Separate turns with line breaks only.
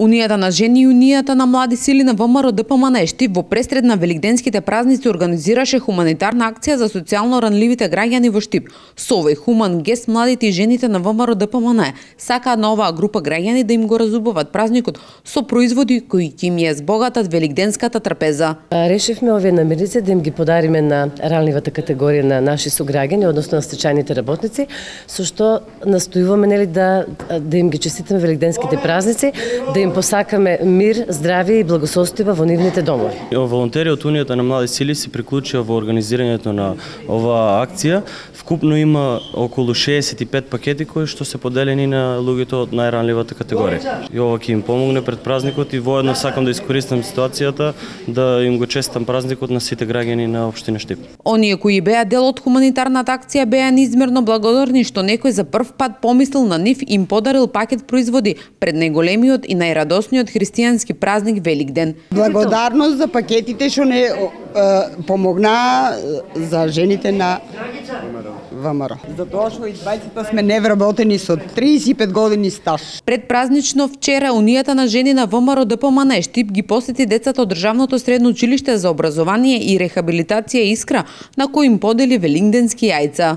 Унијата на жени и Унијата на млади сили на ВМРО ДПМН Штип во пресред на великденските празници организираше хуманитарна акција за социјално ранливите граѓани во Штип. Со овој хуман гест младите и жените на ВМРО ДПМН сакаат на оваа група граѓани да им го разубават празникот со производи кои ќе им ја збогатат великденската трпеза.
Решивме овие намирници да им ги подариме на ранливата категорија на наши сограѓани, односно на стечајните работници, со што настојуваме да им ги честитаме великденските празници, да им посакаме мир, здравје и благосостојба во нивните домови.
Волонтери од Унијата на млади сили се приклучија во организирањето на оваа акција. Вкупно има околу 65 пакети кои што се поделени на луѓето од најранливата категорија. И ова ќе им помогне пред празникот и воедно сакам да искористам ситуацијата да им го честитам празникот на сите граѓани на општина Штип.
Оние кои беа дел од хуманитарната акција беа неизмерно благодарни што некој за прв пат помислил на нив и им подарил пакет производи пред најголемиот и најрадосниот христијански празник Великден.
Благодарност за пакетите што не помогнаа за жените на ВМРО. Затоа што и двајцата сме невработени со 35 години стаж.
Предпразнично вчера Унијата на жени на ВМРО ДПМН Штип ги посети децата од државното средно училиште за образование и рехабилитација Искра, на кои им подели великденски јајца.